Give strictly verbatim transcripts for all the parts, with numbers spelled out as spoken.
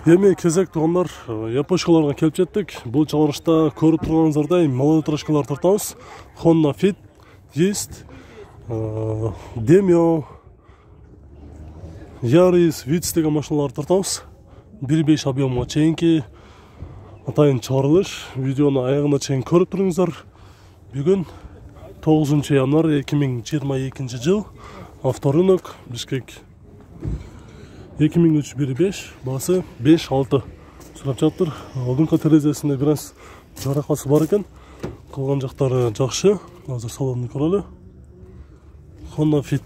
Эми кезек туугандар, япошкаларга келип жеттик. Бул чыгарышта көрүп турганыңыздардай малолитражкалар тартабыз. Honda Fit, Есть, Demio, Yaris, Vitz деген машиналарды тартабыз. бир беш объемга чейинки атайын чыгарылыш. Видеону аягына чейин көрүп туруңуздар. Бүгүн тогузунчу январь эки миң жыйырма экинчи жыл. Авторынок, Бишкек. эки миң үч бир беш, баасы беш алты сурап жатыр. Алдыңкы терезесинде бир аз жаракасы бар экен. Калган жактары жакшы. Азыр салонду көрөлү. Honda Fit.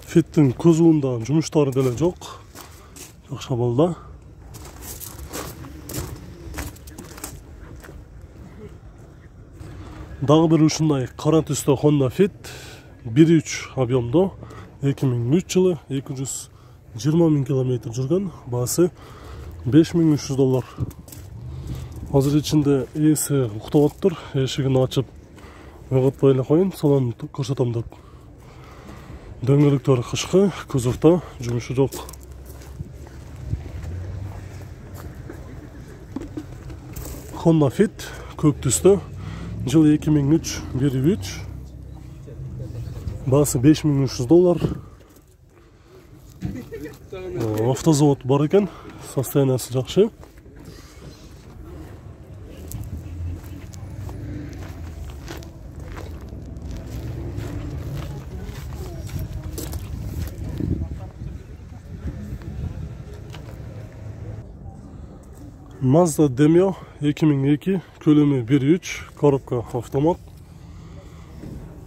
Fit'in кузовунда жумуштары деле жок. Жакшы абалда. Дагы бир ушундай кара түстө Honda Fit бир үч объемдо эки миң үч жылы эки жүз жыйырма миң километр жүргөн. Баасы беш миң үч жүз доллар. Азыр ичинде ээси уктап атыптыр. Эшигин ачып ойготпой эле коюн, салонун көрсөтөм деп. Дөңгөлөктөр кышкы, кузовдо жумушу жок. Honda Fit көк түстө. Жыл эки миң үч бир үч. Баасы беш миң үч жүз доллар. Автозавод бар экен. Состояниясы жакшы. Mazda Demio эки миң эки, көлөмү бир үч, коробка автомат.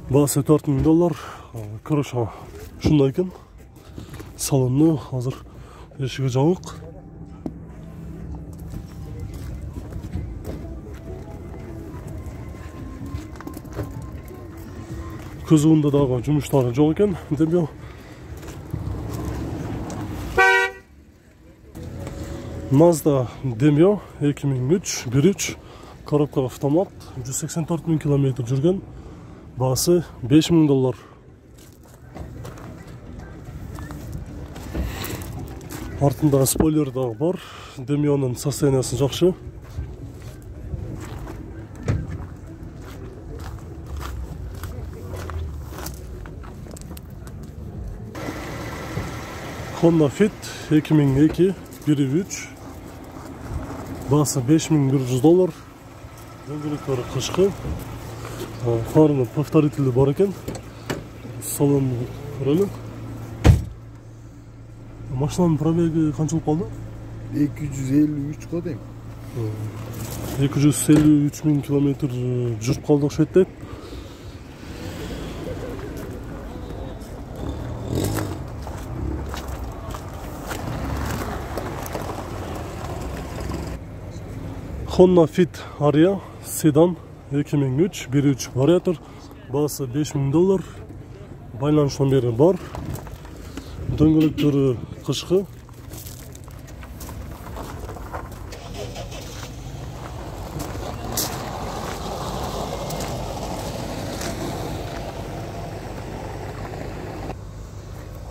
Баасы төрт миң доллар. Крыша ушундай экен. Салону азыр эшиги жабык. Кузовунда дагы жумуштары жок экен. Демio. Mazda Demio эки миң үч бир үч, коробка автомат, жүз сексен төрт миң километр жүргөн. Баасы беш миң доллар. Артында спойлер дагы бар. Demio'нун состояниясы жакшы. Honda Fit эки миң эки бир үч. Баасы беш миң бир жүз доллар. Дөңгөлөктөрү кышкы. Фарны повторитель бар экен. Салон көрөлү. Машинанын пробеги канчалык калды? эки жүз элүү үч го дейм. эки жүз элүү үч миң километр жүрүп калды окшойт дейт. Honda Fit Aria седан эки миң үч бир үч вариатор. Баасы беш миң доллар. Байланыш номери бар. Дөңгөлөктөрү кышкы.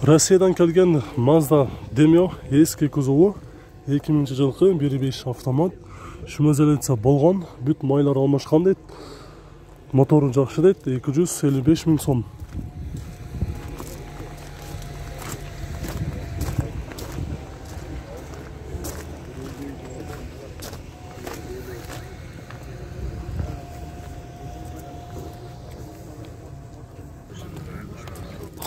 Россиядан келген Mazda Demio эски кузову эки миңинчи жылкы бир беш автомат. Шумазелица болгон, бүт майлар алмашкан дейт. Мотору жакшы дейт, эки жүз элүү беш миң сом.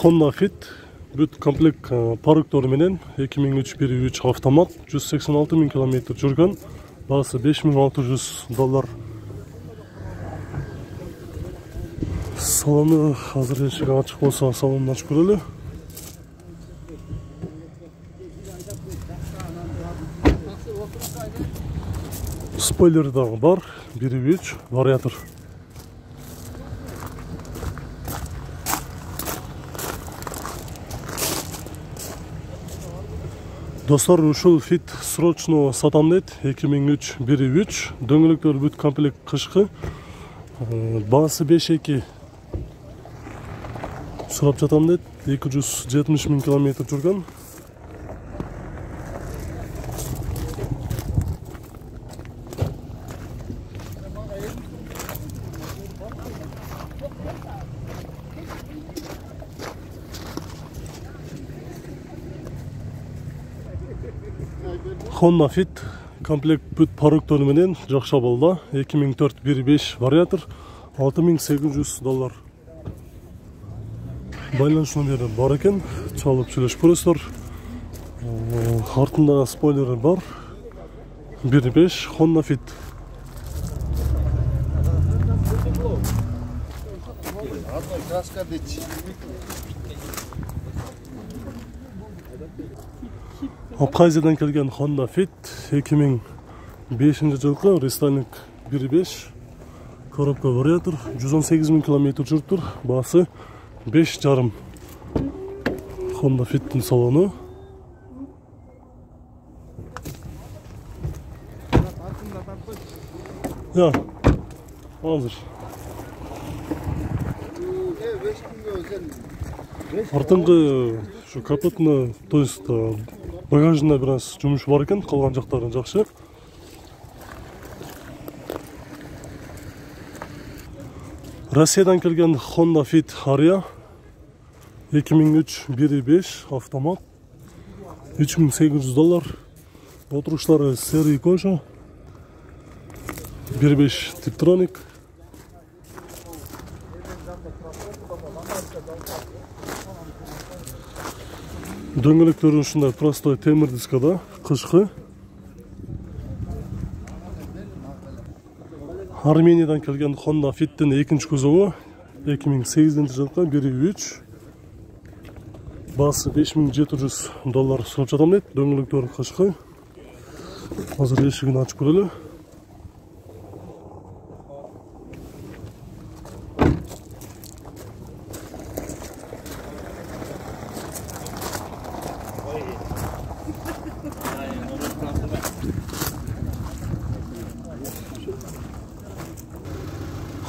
Honda Fit бүт комплект парктор менен эки миң үч бир үч автомат, жүз сексен алты миң километр жүргөн. Баасы беш миң алты жүз доллар. Салону азыр эшиги ачык болсо салонун ачып көрөлү. Спойлер дагы бар, бир үч вариатор. Достор, ушул Fit срочно сатам дейт. эки миң үч бир үч. Дөңгөлөктөр бүт комплект кышкы. Баасы беш эки. сурап жатам дейт. эки жүз жетимиш миң километр жүргөн. Honda Fit комплект бүт парктөрү менен жакшы абалда. эки миң төрт бир беш вариатор, алты миң сегиз жүз доллар. Байланыш номери бар экен, чалып сүйлөшүп көрөсүздөр. Артында спойлери бар. бир беш Honda Fit. Абхазиядан келген Honda Fit эки миң бешинчи жылкы рестайлинг бир беш коробка вариатор, жүз он сегиз миң километр жүрүптүр. Баасы беш жарым. Honda Fit'in салону. Ya, hazır. Артыңкы şu капотуна, то есть багажында бир аз жумуш бар экен, калган жактары жакшы. Россиядан келген Honda Fit Aria эки миң үч бир беш автомат, үч миң сегиз жүз доллар. Отуруштары серый кожа, бир беш Tiptronic. Дөңгөлөктөрү ушундай простой темир дискада, кышкы. Армениядан келген Honda Fit'in экинчи кузову эки миң сегизинчи жылкы бир үч. Баасы беш миң жети жүз доллар сурап жатам дейт. Дөңгөлөктөрү кышкы. Азыр эшигин ачып көрөлү.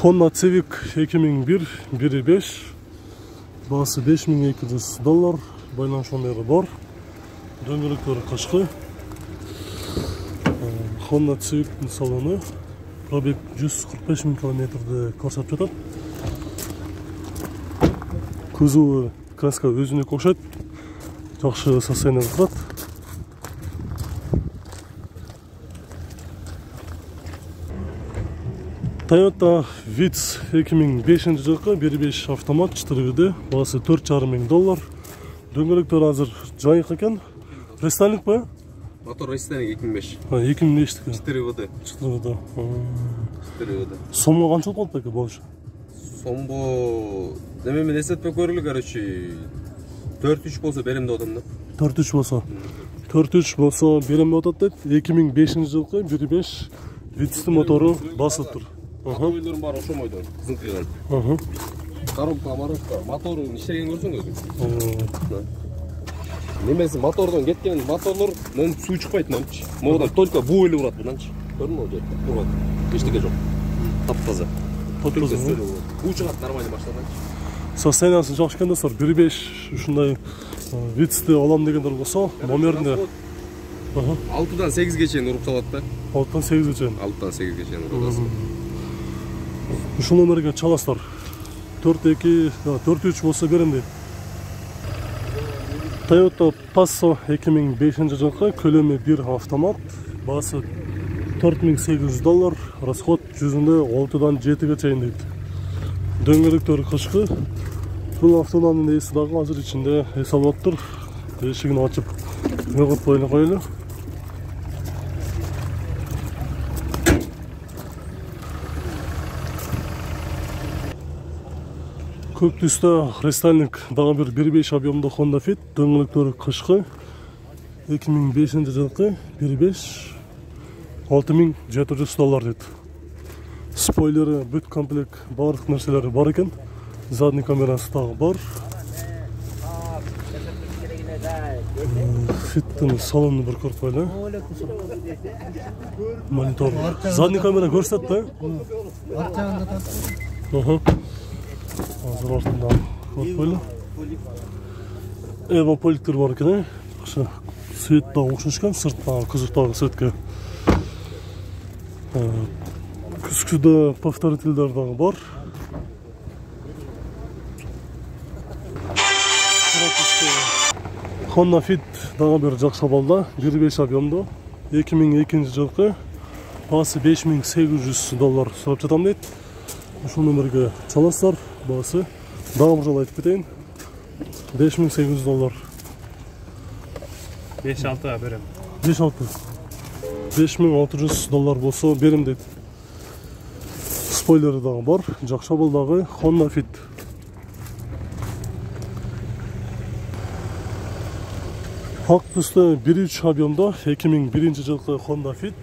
Honda Civic эки миң бир бир беш. Баасы беш миң эки жүз доллар. Байланыш номери бар. Дөңгөлөктөрү кышкы. Honda Civic'in салону. Пробег жүз кырк беш миң километрди көрсөтүп жатат. Кузову краска өзүнө окшойт. Жакшы состоянияда турат. Toyota Vitz эки миң бешинчи жылкы бир беш автомат четыре види, баасы төрт жарым миң доллар. Дөңгөлөктөр азыр жайык экен. Рестайлинг ба? Мотор рестайлинг эки миң беш. Ha, эки миң беш экен. четыре види. четыре види. четыре види. Сомго канчалык болот экен болушу? Сомго эме мен эсептеп көрүлү, короче, төрт үч болсо берем деп атам да. төрт үч болсо. төрт үч болсо берем деп атат дейт. эки миң бешинчи жылкы бир беш Vitz'in мотору басып тур. Автомобилдерин баары ошомойдон, кызыңкыйган. Аха. Коробка, коробка, моторун иштеген көрсөң өзүң. Немеси мотордон кеткен моторлор мындан суу чыкпайт мынчы. Мотордон только буу эле урат мынданчы. Көрдүңбү ол жерде? Турган. Эчтеке жок. Таптаза. Таптаза. Буу чыгат нормально баштадан. Состояниясы жакшы экен достор. бир беш ушундай Vitz'ти алам дегендер болсо, номеринде алтыдан сегизге чейин уруп салат да. алтыдан сегизге чейин. алтыдан сегизге чейин урасың. Ушул номерге чаласыздар. төрт эки, төрт үч болсо берем дейт. Toyota Passo эки миң бешинчи жылкы көлөмү бир автомат, баасы төрт миң сегиз жүз доллар, расход жүзүндө алтыдан жетиге чейин дейт. Дөңгөлөктөрү кышкы. Бул автоунамдын ээси дагы азыр ичинде эс алып атыптыр. Эшигин ачып өгөтпөй эле коелу. Көк түстө рестайлинг дагы бир бир беш объемдо Honda Fit, дөңгөлөктөрү кышкы. эки миң бешинчи жылкы бир беш алты миң жети жүз доллар дейт. Спойлери, бүт комплект, барлык нерселери бар экен. Задний камерасы дагы бар. Fit'in салонун бир көрүп коелу. Монитор. Задний камера көрсөтөт да? Аха. Азыр артында Коркпойлу. Эва поликтер бар экен, э. Ошо свет дагы окшош экен, сырттагы кызыктагы светке. Күзгүдө повторительдер дагы бар. Honda Fit дагы бир жакшы абалда, бир беш объемдо. эки миң экинчи жылкы баасы беш миң сегиз жүз доллар сурап жатам дейт. Ушул номерге чаласыздар, баасы дагы бир жолу айтып кетейин. беш миң сегиз жүз доллар. беш алты берем. беш алты. беш миң алты жүз доллар болсо берем дейт. Спойлери дагы бар, жакшы абалдагы Honda Fit. Ак түстө бир үч объемдо эки миң биринчи жылкы Honda Fit.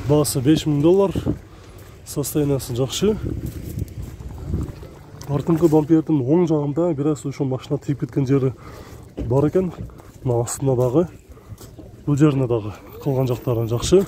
Баасы беш миң доллар. Состояниясы жакшы. Артыңкы бампердин оң жагында бир аз ошо машина тийип кеткен жери бар экен. Мына астында дагы, бул жерине дагы калган жактары жакшы.